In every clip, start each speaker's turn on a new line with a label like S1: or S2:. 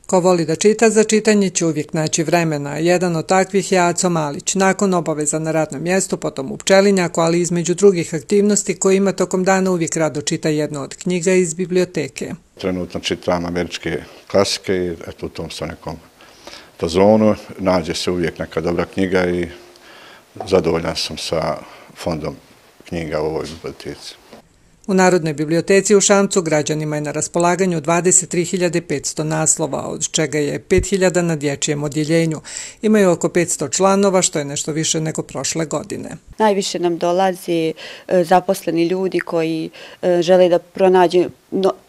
S1: Ko voli da čita, za čitanje će uvijek naći vremena. Jedan od takvih je Aco Malić. Nakon obaveza na radnom mjestu, potom u pčelinjaku, ali između drugih aktivnosti koje ima tokom dana, uvijek rado čita jednu od knjiga iz biblioteke.
S2: Trenutno čitam američke klasike i u tom sam nekom fazonu. Nađe se uvijek neka dobra knjiga i zadovoljan sam sa fondom knjiga u ovoj biblioteci.
S1: U Narodnoj biblioteci u Šamcu građanima je na raspolaganju 23.500 naslova, od čega je 5.000 na dječjem odjeljenju. Imaju oko 500 članova, što je nešto više nego prošle godine.
S3: Najviše nam dolazi zaposleni ljudi koji žele da pronađu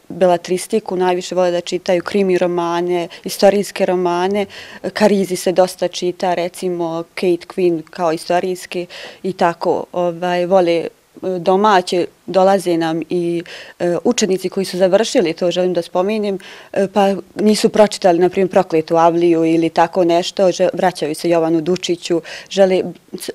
S3: beletristiku, najviše vole da čitaju krimi romane, istorijske romane. Karizi se dosta čita, recimo Kate Quinn kao istorijski i tako vole domaće. Dolaze nam i učenici koji su završili, to želim da spomenem, pa nisu pročitali, na primjer, Prokletu Avliju ili tako nešto, vraćaju se Jovanu Dučiću, žele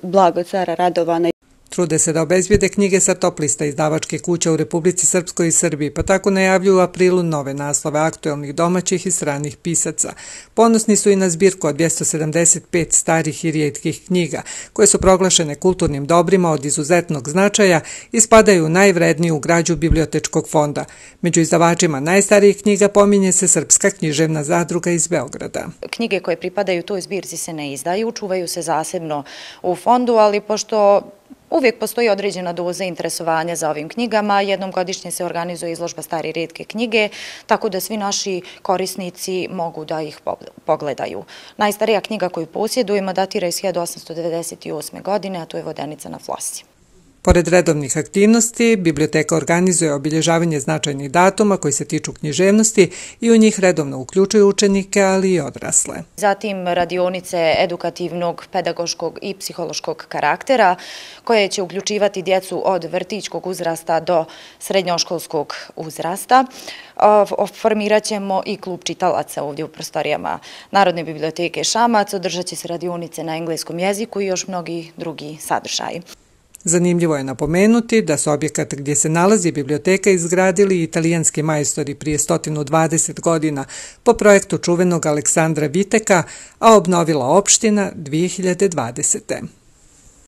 S3: blago cara Radovana.
S1: Trude se da obezbijede knjige sa top lista izdavačke kuće u Republici Srpskoj i Srbiji, pa tako najavljuju u aprilu nove naslove aktuelnih domaćih i stranih pisaca. Ponosni su i na zbirku od 275 starih i rijetkih knjiga, koje su proglašene kulturnim dobrima od izuzetnog značaja i spadaju u najvredniju građu bibliotečkog fonda. Među izdavačima najstarijih knjiga pominje se Srpska književna zadruga iz Beograda.
S4: Knjige koje pripadaju toj zbirci se ne izdaju, čuvaju se zasebno u fondu, ali pošto uvijek postoji određena doza interesovanja za ovim knjigama. Jednom godišnje se organizuje izložba stare i rijetke knjige, tako da svi naši korisnici mogu da ih pogledaju. Najstarija knjiga koju posjedujemo datira iz 1898. godine, a to je Vodenica na Flosi.
S1: Pored redovnih aktivnosti, biblioteka organizuje obilježavanje značajnih datuma koji se tiču književnosti i u njih redovno uključuju učenike, ali i odrasle.
S4: Zatim radionice edukativnog, pedagoškog i psihološkog karaktera koje će uključivati djecu od vrtićkog uzrasta do srednjoškolskog uzrasta. Formirat ćemo i klub čitalaca ovdje u prostorijama Narodne biblioteke Šamac, održat će se radionice na engleskom jeziku i još mnogi drugi sadržaji.
S1: Zanimljivo je napomenuti da su objekat gdje se nalazi biblioteka izgradili italijanski majstori prije 120 godina po projektu čuvenog Aleksandra Viteka, a obnovila opština 2020.